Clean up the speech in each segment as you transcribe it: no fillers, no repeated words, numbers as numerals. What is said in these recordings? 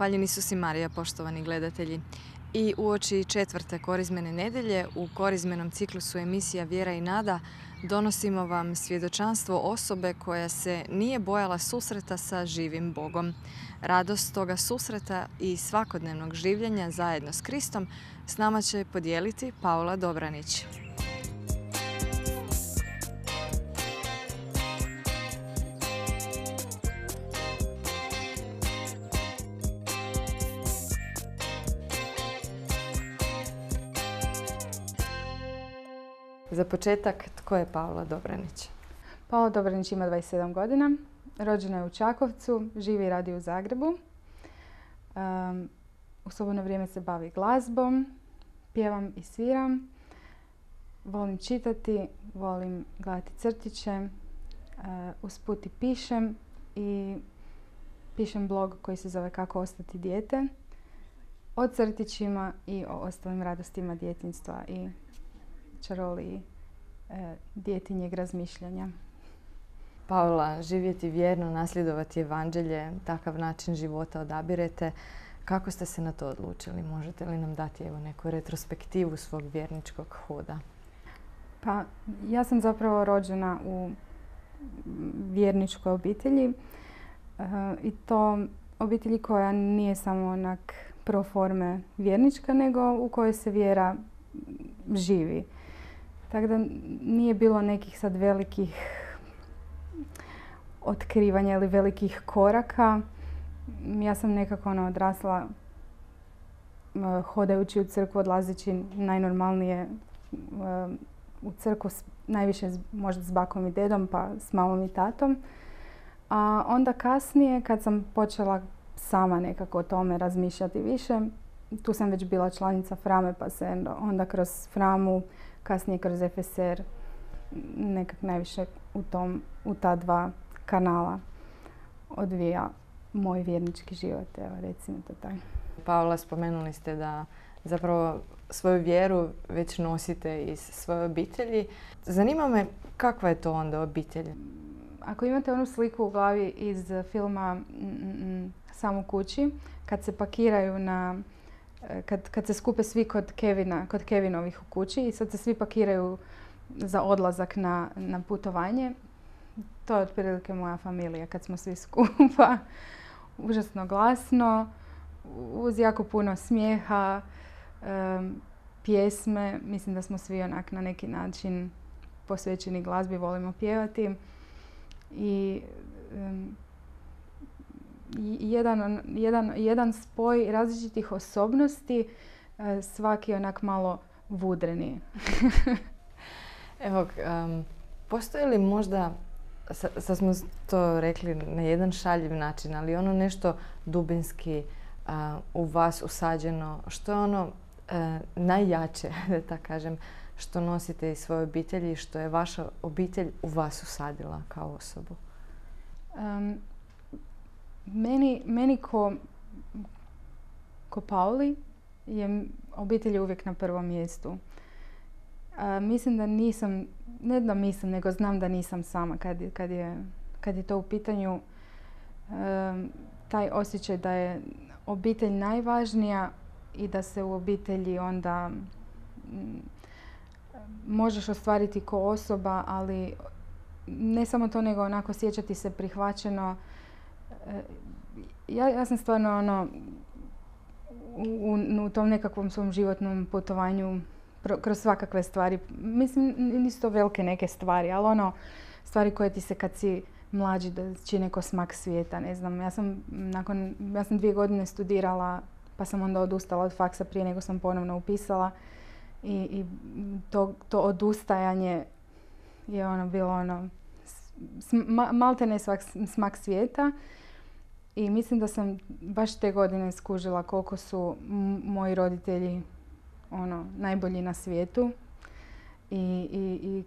Hvaljen Isus i Marija, poštovani gledatelji. I uoči četvrte korizmene nedelje u korizmenom ciklusu emisija Vjera i nada donosimo vam svjedočanstvo osobe koja se nije bojala susreta sa živim Bogom. Radost toga susreta i svakodnevnog življenja zajedno s Kristom s nama će podijeliti Paula Dobranić. Za početak, tko je Paula Dobranić? Paula Dobranić ima 27 godina. Rođena je u Čakovcu, živi i radi u Zagrebu. U slobodno vrijeme se bavi glazbom, pjevam i sviram. Volim čitati, volim gledati crtiće. Usput i pišem i pišem blog koji se zove Kako ostati dijete. O crtićima i o ostalim radostima djetinjstva i čaroliji djetinjeg razmišljanja. Paula, živjeti vjerno, nasljedovati evanđelje, takav način života odabirete. Kako ste se na to odlučili? Možete li nam dati neku retrospektivu svog vjerničkog hoda? Pa, ja sam zapravo rođena u vjerničkoj obitelji i to obitelji koja nije samo onak pro forme vjernička, nego u kojoj se vjera živi. Tako da nije bilo nekih sad velikih otkrivanja ili velikih koraka. Ja sam nekako odrasla hodajući u crkvu, odlazeći najnormalnije u crkvu, najviše možda s bakom i dedom, pa s mamom i tatom. A onda kasnije, kad sam počela sama nekako o tome razmišljati više, tu sam već bila članica Frame, pa se onda kroz Framu, kasnije kroz FSR, nekak najviše u ta dva kanala odvija moj vjernički život, evo recimo to tako. Paula, spomenuli ste da zapravo svoju vjeru već nosite iz svoje obitelji. Zanima me kakva je to onda obitelj? Ako imate onu sliku u glavi iz filma Sam u kući, kad se pakiraju kad se skupe svi kod Kevinovih u kući i sad se svi pakiraju za odlazak na putovanje. To je otprilike moja familija kad smo svi skupa. Užasno glasno, uz jako puno smijeha, pjesme. Mislim da smo svi onak na neki način posvećeni glazbi, volimo pjevati. I jedan spoj različitih osobnosti, svaki onak malo vudreni. Evo, postoji li možda, sad smo to rekli na jedan šaljiv način, ali ono nešto dubinski u vas usađeno, što je ono najjače, da tako kažem, što nosite iz svoje obitelji, što je vaša obitelj u vas usadila kao osobu? Meni ko Pauli je obitelj uvijek na prvom mjestu. Mislim da nisam, nego znam da nisam sama kad je to u pitanju. Taj osjećaj da je obitelj najvažnija i da se u obitelji onda možeš ostvariti ko osoba, ali ne samo to, nego onako osjećati se prihvaćeno. Ja sam stvarno u tom nekakvom svom životnom putovanju kroz svakakve stvari. Mislim, nisu to velike neke stvari, ali stvari koje ti se kad si mlađi da čine ko smak svijeta. Ne znam, ja sam 2 godine studirala, pa sam onda odustala od faksa prije nego sam ponovno upisala. I to odustajanje je bilo maltene smak svijeta. I mislim da sam baš te godine skužila koliko su moji roditelji najbolji na svijetu i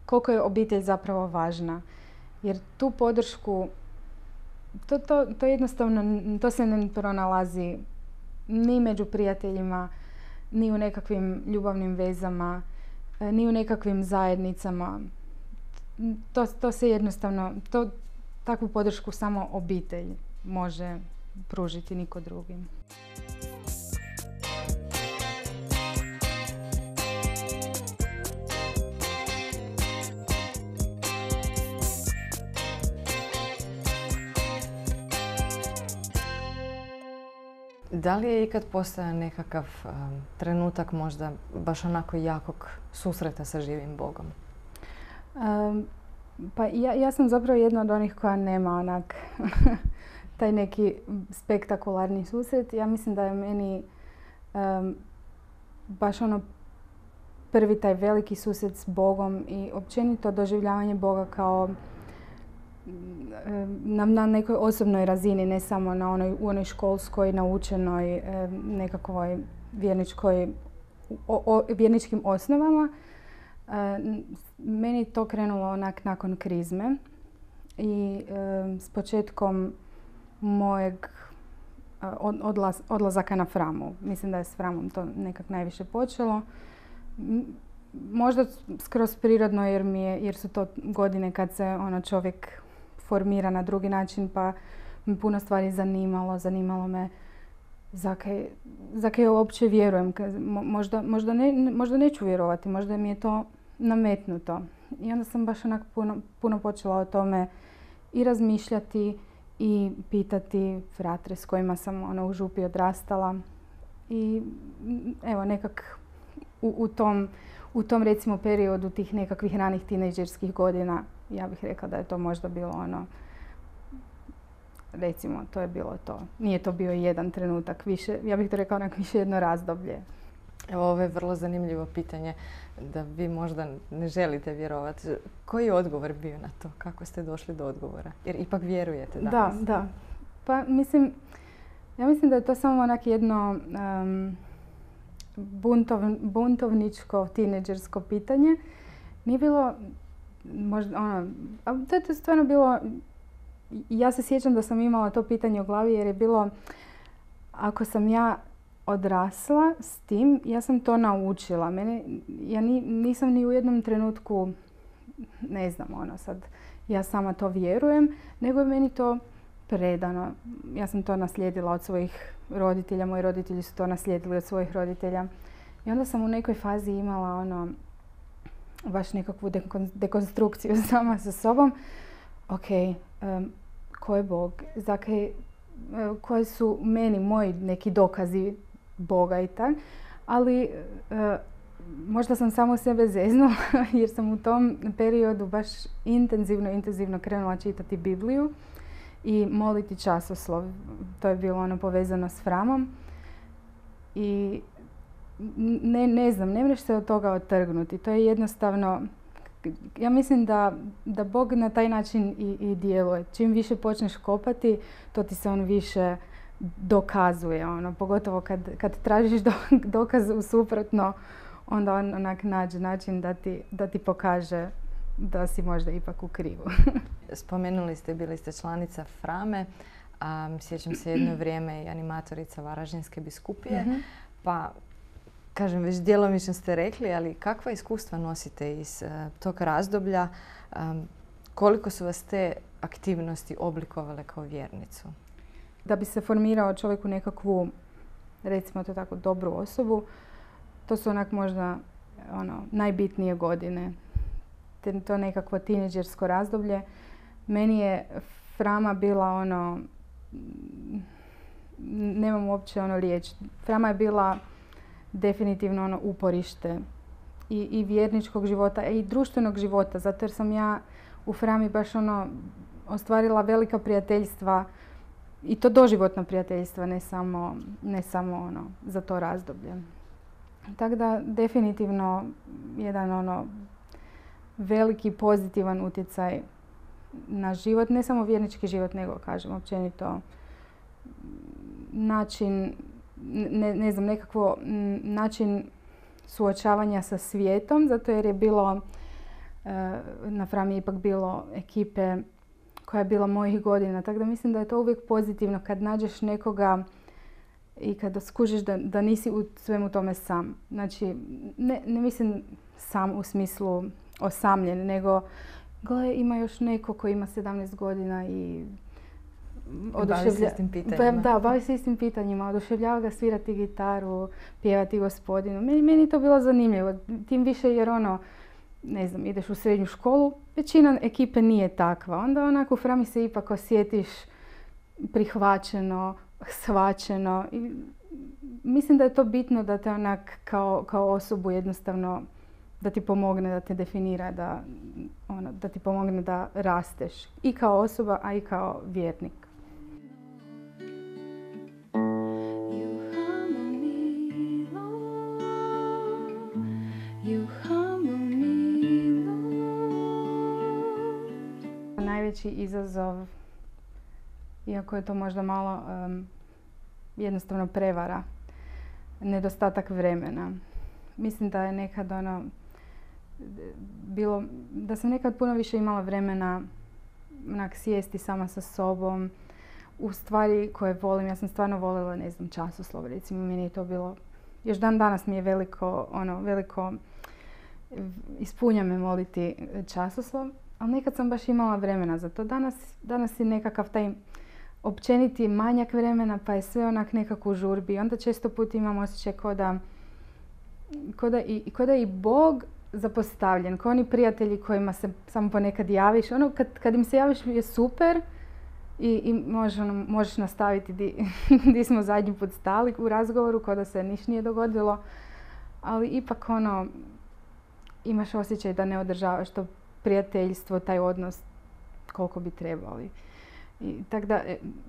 koliko je obitelj zapravo važna. Jer tu podršku, to jednostavno, to se ne pronalazi ni među prijateljima, ni u nekakvim ljubavnim vezama, ni u nekakvim zajednicama. To se jednostavno, takvu podršku samo obitelj može pružiti niko drugi. Da li je ikad postojao nekakav trenutak možda baš onako jakog susreta sa živim Bogom? Pa ja sam zapravo jedna od onih koja nema onak taj neki spektakularni susret. Ja mislim da je meni baš ono prvi taj veliki susret s Bogom i općenito doživljavanje Boga kao na nekoj osobnoj razini, ne samo u onoj školskoj, naučenoj, nekakvoj vjerničkim osnovama. Meni to krenulo onak nakon krizme i s početkom mojeg odlazaka na Framu. Mislim da je s Framom to nekak najviše počelo. Možda skroz prirodno jer su to godine kad se čovjek formira na drugi način, pa me puno stvari zanimalo me za kaj uopće vjerujem. Možda neću vjerovati, možda mi je to nametnuto. I onda sam baš onak puno počela o tome i razmišljati i pitati fratre s kojima sam u župi odrastala. I evo nekak u tom recimo periodu tih nekakvih ranih tinejdžerskih godina, ja bih rekla da je to možda bilo recimo to je bilo to. Nije to bio jedan trenutak, više, ja bih to rekla više jedno razdoblje. Evo, ovo je vrlo zanimljivo pitanje da vi možda ne želite vjerovati. Koji je odgovor bio na to? Kako ste došli do odgovora? Jer ipak vjerujete danas. Da. Pa ja mislim da je to samo jedno buntovničko, tinejdžersko pitanje. Nije bilo možda to je stvarno bilo, ja se sjećam da sam imala to pitanje u glavi jer je bilo, ako sam ja odrasla s tim, ja sam to naučila. Ja nisam ni u jednom trenutku, ne znam, sad ja sama to vjerujem, nego je meni to predano. Ja sam to naslijedila od svojih roditelja, moji roditelji su to naslijedili od svojih roditelja. I onda sam u nekoj fazi imala baš nekakvu dekonstrukciju sama sa sobom. Ok, ko je Bog? Koji su meni moji neki dokazi Boga i tak. Ali možda sam samo sebe zeznula jer sam u tom periodu baš intenzivno krenula čitati Bibliju i moliti časoslov. To je bilo povezano s Framom. I ne znam, ne možeš se od toga otrgnuti. To je jednostavno, ja mislim da Bog na taj način i djeluje. Čim više počneš kopati, to ti se više dokazuje. Pogotovo kad tražiš dokaz u suprotno, onda on nađe način da ti pokaže da si možda ipak u krivu. Spomenuli ste, bili ste članica Frame, sjećam se jedno vrijeme i animatorica Varaždinske biskupije, pa kažem, već djelomično ste rekli, ali kakva iskustva nosite iz tog razdoblja? Koliko su vas te aktivnosti oblikovale kao vjernicu? Da bi se formirao čovjek u nekakvu, recimo to tako, dobru osobu, to su možda najbitnije godine. To nekakvo tinejdžersko razdoblje. Meni je Frama bila nemam uopće riječ. Frama je bila definitivno uporište i vjerničkog života i društvenog života, zato jer sam ja u Frami baš ostvarila velika prijateljstva i to doživotna prijateljstva, ne samo za to razdoblje. Tako da definitivno jedan veliki pozitivan utjecaj na život, ne samo vjernički život, nego kažem općenito način, ne znam, nekakvo način suočavanja sa svijetom, zato jer je bilo, na Frami je ipak bilo ekipe koja je bila mojih godina, tako da mislim da je to uvijek pozitivno kad nađeš nekoga i kada skužiš da nisi u svemu tome sam. Znači, ne mislim sam u smislu osamljen, nego gle, ima još neko koji ima 17 godina i Bavi se istim pitanjima. Da, bavi se istim pitanjima. Oduševljava ga svirati gitaru, pjevati Gospodinu. Meni je to bilo zanimljivo. Tim više jer ne znam, ideš u srednju školu, većina ekipe nije takva. Onda onako u Frami se ipak osjetiš prihvaćeno, shvaćeno. I mislim da je to bitno da te onak kao osobu jednostavno da ti pomogne, da te definira, da ti pomogne da rasteš i kao osoba, a i kao vjernik. Najveći izazov, iako je to možda malo jednostavno prevara, nedostatak vremena. Mislim da je nekad bilo, da sam nekad puno više imala vremena sjesti sama sa sobom u stvari koje volim. Ja sam stvarno voljela, ne znam, časoslov, recimo, meni je to bilo, još dan danas mi je veliko ispunja me moliti časoslov, ali nekad sam baš imala vremena za to. Danas je nekakav taj općeniti manjak vremena, pa je sve onak nekako u žurbi. Onda često put imam osjećaj ko da i Bog zapostavljen, kao oni prijatelji kojima se samo ponekad javiš. Kad im se javiš je super i možeš nastaviti di smo zadnji put stali u razgovoru, kao da se ništa nije dogodilo. Ali ipak imaš osjećaj da ne održavaš to prijateljstvo, taj odnos koliko bi trebali. Tako da,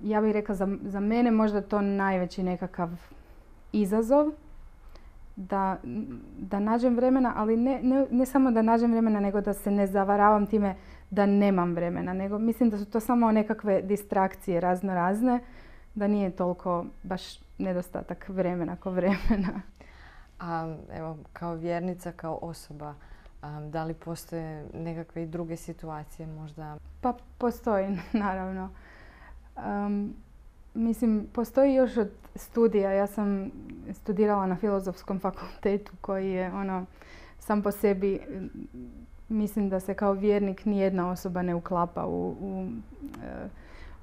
ja bih rekla za mene možda to najveći nekakav izazov. Da nađem vremena, ali ne samo da nađem vremena, nego da se ne zavaravam time da nemam vremena. Nego mislim da su to samo nekakve distrakcije razne, da nije toliko baš nedostatak vremena ko vremena. A evo, kao vjernica, kao osoba, da li postoje nekakve i druge situacije možda? Pa postoji, naravno. Mislim, postoji još od studija. Ja sam studirala na Filozofskom fakultetu koji je sam po sebi, mislim da se kao vjernik nijedna osoba ne uklapa u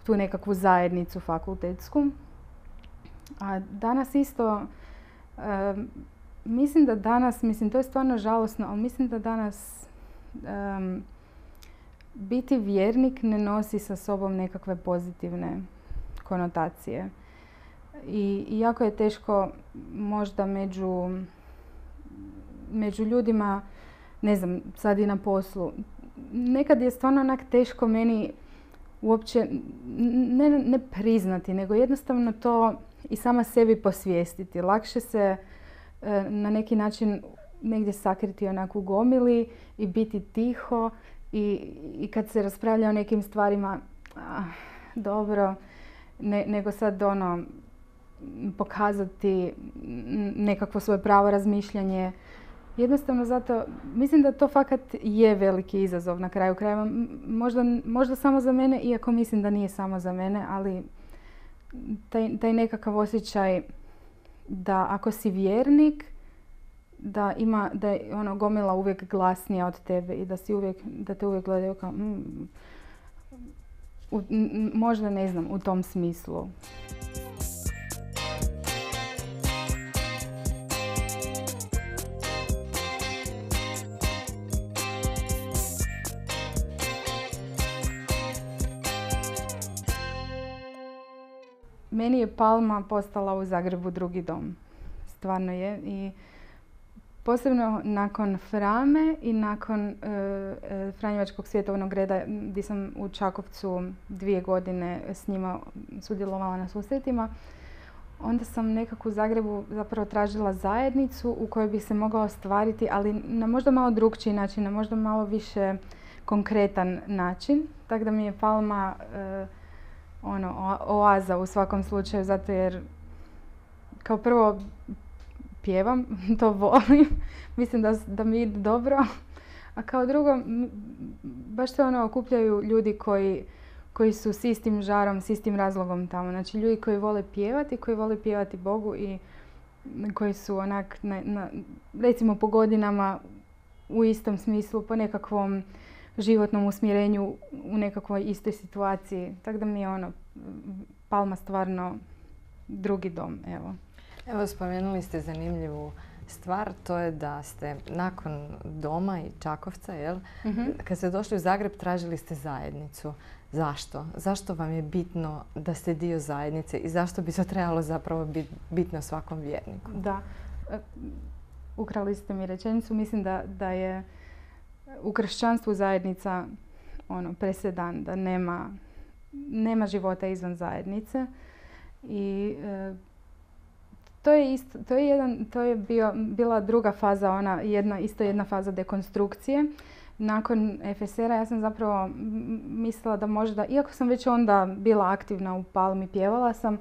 tu nekakvu zajednicu fakultetsku. A danas isto, mislim da danas, to je stvarno žalosno, ali mislim da danas biti vjernik ne nosi sa sobom nekakve pozitivne konotacije. I jako je teško možda među ljudima, ne znam, sad i na poslu. Nekad je stvarno onak teško meni uopće ne priznati, nego jednostavno to i sama sebi posvijestiti. Lakše se na neki način negdje sakriti onako u gomili i biti tiho i kad se raspravlja o nekim stvarima, dobro, nego sad pokazati nekakvo svoje pravo razmišljanje. Jednostavno zato, mislim da to fakat je veliki izazov na kraju krajeva. Možda samo za mene, iako mislim da nije samo za mene, ali taj nekakav osjećaj da ako si vjernik, da je gomila uvijek glasnija od tebe i da te uvijek gledaju kao možda ne znam, u tom smislu. Meni je Palma postala u Zagrebu drugi dom. Stvarno je. I posebno nakon Frame i nakon Franjevačkog svjetovnog reda gdje sam u Čakovcu 2 godine s njima sudjelovala na susretima, onda sam nekako u Zagrebu zapravo tražila zajednicu u kojoj bi se mogla ostvariti, ali na možda malo drukčiji način, na možda malo više konkretan način. Tako da mi je Palma oaza u svakom slučaju, zato jer kao prvo pjevam, to volim, mislim da mi ide dobro, a kao drugo baš se okupljaju ljudi koji su s istim žarom, s istim razlogom tamo. Znači ljudi koji vole pjevati Bogu i koji su recimo po godinama u istom smislu, po nekakvom životnom usmjerenju u nekakvoj istoj situaciji. Tako da mi je Palma stvarno drugi dom, evo. Evo, spomenuli ste zanimljivu stvar, to je da ste nakon doma i Čakovca, kad ste došli u Zagreb, tražili ste zajednicu. Zašto? Zašto vam je bitno da ste dio zajednice i zašto bi to trebalo zapravo biti bitno svakom vjerniku? Da, ukrali ste mi rečenicu. Mislim da je u kršćanstvu zajednica presedan, da nema života izvan zajednice. I to je bila druga faza, jedna faza dekonstrukcije. Nakon FSR-a ja sam zapravo mislila da možda, iako sam već onda bila aktivna u Palmi, pjevala sam,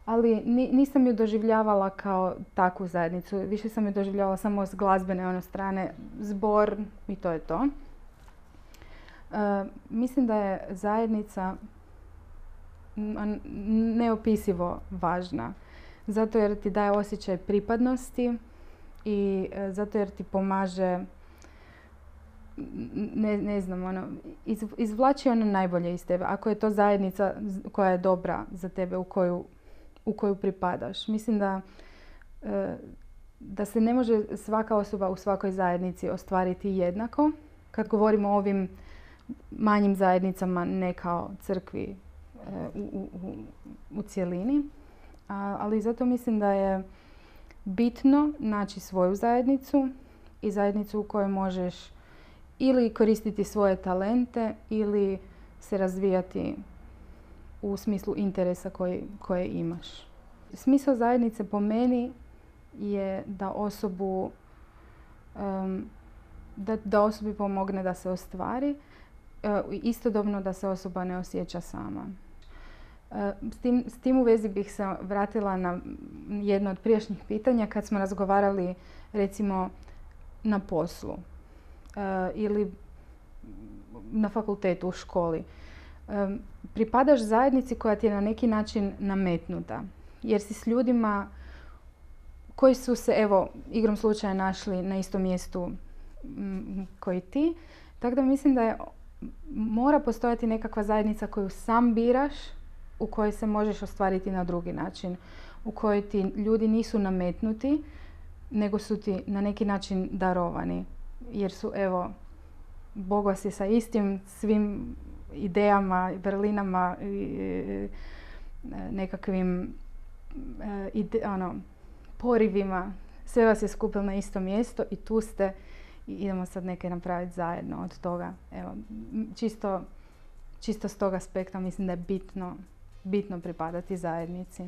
ali nisam ju doživljavala kao takvu zajednicu. Više sam ju doživljavala samo s glazbene strane, zbor i to je to. Mislim da je zajednica neopisivo važna. Zato jer ti daje osjećaj pripadnosti i zato jer ti pomaže, ne znam, izvlači ono najbolje iz tebe. Ako je to zajednica koja je dobra za tebe, u koju pripadaš. Mislim da se ne može svaka osoba u svakoj zajednici ostvariti jednako. Kad govorimo o ovim manjim zajednicama, ne kao crkvi u cjelini. Ali zato mislim da je bitno naći svoju zajednicu i zajednicu u kojoj možeš ili koristiti svoje talente ili se razvijati u smislu interesa koje imaš. Smisao zajednice po meni je da osobi pomogne da se ostvari, istodobno da se osoba ne osjeća sama. S tim u vezi bih se vratila na jedno od prijašnjih pitanja kad smo razgovarali recimo na poslu ili na fakultetu, u školi. Pripadaš zajednici koja ti je na neki način nametnuta. Jer si s ljudima koji su se, evo, igrom slučaja našli na istom mjestu koji ti. Tako da mislim da mora postojati nekakva zajednica koju sam biraš, u kojoj se možeš ostvariti na drugi način. U kojoj ti ljudi nisu nametnuti, nego su ti na neki način darovani. Jer su, evo, Bog vas je sa istim svim idejama, vrlinama, nekakvim porivima. Sve vas je skupilo na isto mjesto i tu ste i idemo sad neke napraviti zajedno od toga. Evo, čisto s tog aspekta mislim da je bitno pripadati zajednici.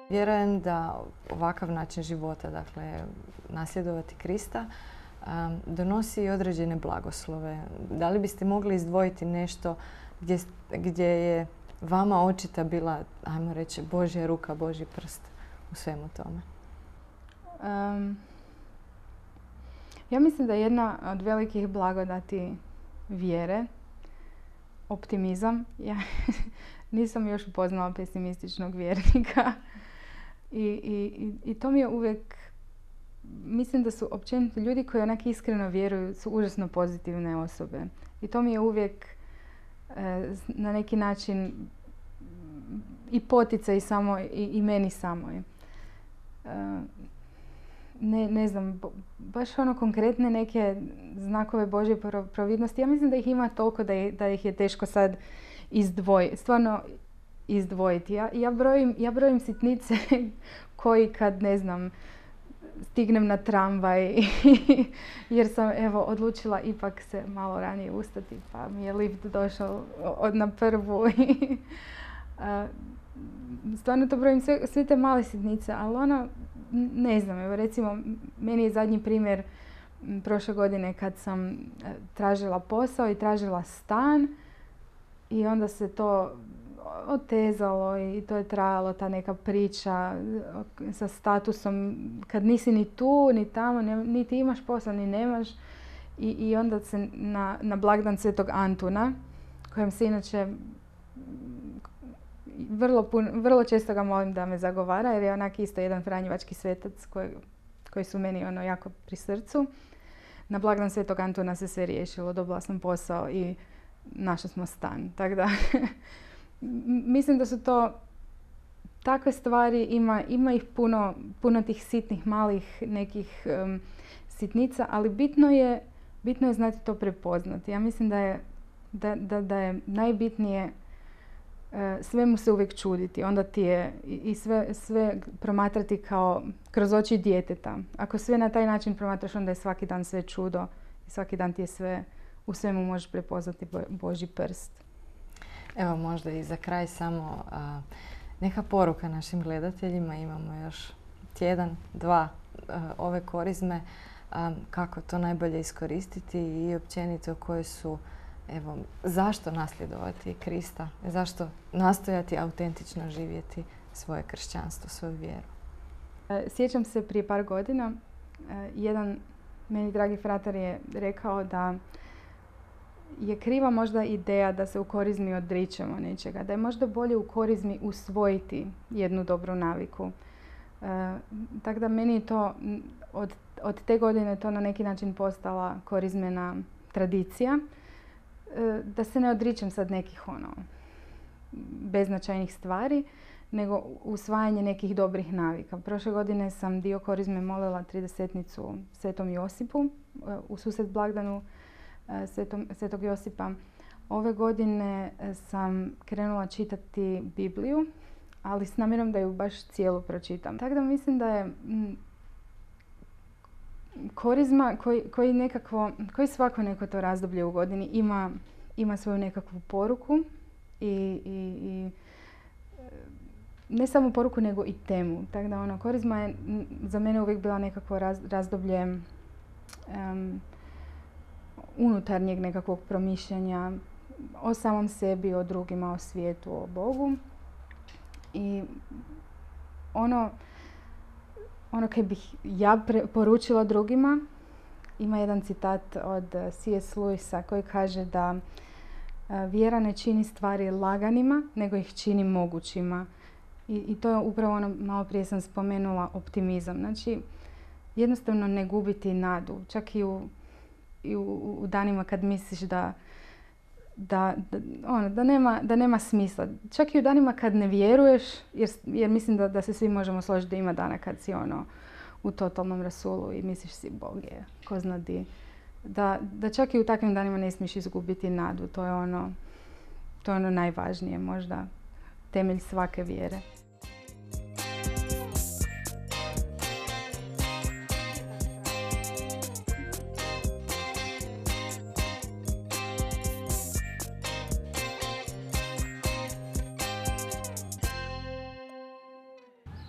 Vjerujem da ovakav način života, dakle nasljedovati Krista, donosi i određene blagoslove. Da li biste mogli izdvojiti nešto gdje je vama očita bila, ajmo reći, Božja ruka, Božji prst u svemu tome? Ja mislim da je jedna od velikih blagodati vjere optimizam. Ja nisam još upoznala pesimističnog vjernika. I to mi je uvijek, mislim da su općenito ljudi koji onak iskreno vjeruju su užasno pozitivne osobe. I to mi je uvijek na neki način i poticaj samo i meni samoj. Ne znam, baš konkretne neke znakove Božje providnosti. Ja mislim da ih ima toliko da ih je teško sad izdvojiti. Ja brojim sitnice koji kad, ne znam, stignem na tramvaj jer sam, evo, odlučila ipak se malo ranije ustati pa mi je lift došao na prvu. Stvarno to brojim sve te male sitnice, ali ne znam, evo recimo, meni je zadnji primjer prošle godine kad sam tražila posao i tražila stan i onda se to otezalo i to je trajalo, ta neka priča sa statusom kad nisi ni tu, ni tamo, niti imaš posao, ni nemaš. I onda se na blagdan Svetog Antuna, kojem se inače vrlo često ga molim da me zagovara, jer je onak isto jedan franjevački svetac koji su meni jako pri srcu. Na blagdan Svetog Antuna se sve riješilo, dobila sam posao i našli smo stan. Tako da mislim da su to takve stvari, ima ih puno tih sitnih, malih nekih sitnica, ali bitno je znati to prepoznati. Ja mislim da je najbitnije svemu se uvijek čuditi. Onda ti je i sve promatrati kao kroz oči djeteta. Ako sve na taj način promatraš, onda je svaki dan sve čudo i svaki dan ti je sve, u svemu možeš prepoznati Božji prst. Evo možda i za kraj samo neka poruka našim gledateljima. Imamo još tjedan, dva ove korizme. Kako to najbolje iskoristiti i općenito koje su, evo, zašto nasljedovati Krista, zašto nastojati autentično živjeti svoje kršćanstvo, svoju vjeru. Sjećam se prije par godina, jedan meni dragi fratar je rekao da je kriva možda ideja da se u korizmi odričemo nečega, da je možda bolje u korizmi usvojiti jednu dobru naviku. Tako da meni je to od te godine to na neki način postala korizmena tradicija. Da se ne odričem sad nekih beznačajnih stvari, nego usvajanje nekih dobrih navika. Prošle godine sam dio korizme molila 30-nicu Svetom Josipu u susret blagdanu Svetog Josipa. Ove godine sam krenula čitati Bibliju, ali s namjerom da ju baš cijelu pročitam. Tako da mislim da je korizma koji svako neko to razdoblje u godini ima svoju nekakvu poruku i ne samo poruku nego i temu. Tako da korizma je za mene uvijek bila nekakvo razdoblje unutarnjeg nekakvog promišljanja o samom sebi, o drugima, o svijetu, o Bogu. I ono kaj bih ja poručila drugima, ima jedan citat od C.S. Lewisa koji kaže da vjera ne čini stvari laganima, nego ih čini mogućima. I to je upravo malo prije sam spomenula, optimizam. Znači, jednostavno ne gubiti nadu. Čak i u danima kad misliš da nema smisla. Čak i u danima kad ne vjeruješ, jer mislim da se svi možemo složiti da ima dana kad si u totalnom rasulu i misliš si Bog je, ko zna di. Da čak i u takvim danima ne smiješ izgubiti nadu. To je ono najvažnije, možda temelj svake vjere.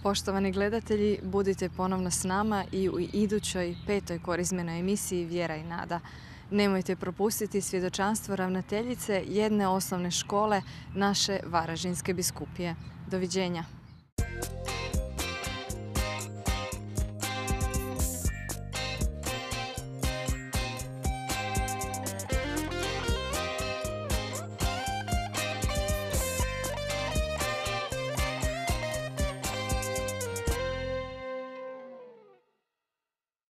Poštovani gledatelji, budite ponovno s nama i u idućoj 5. korizmenoj emisiji Vjera i nada. Nemojte propustiti svjedočanstvo ravnateljice jedne osnovne škole naše Varaždinske biskupije. Doviđenja.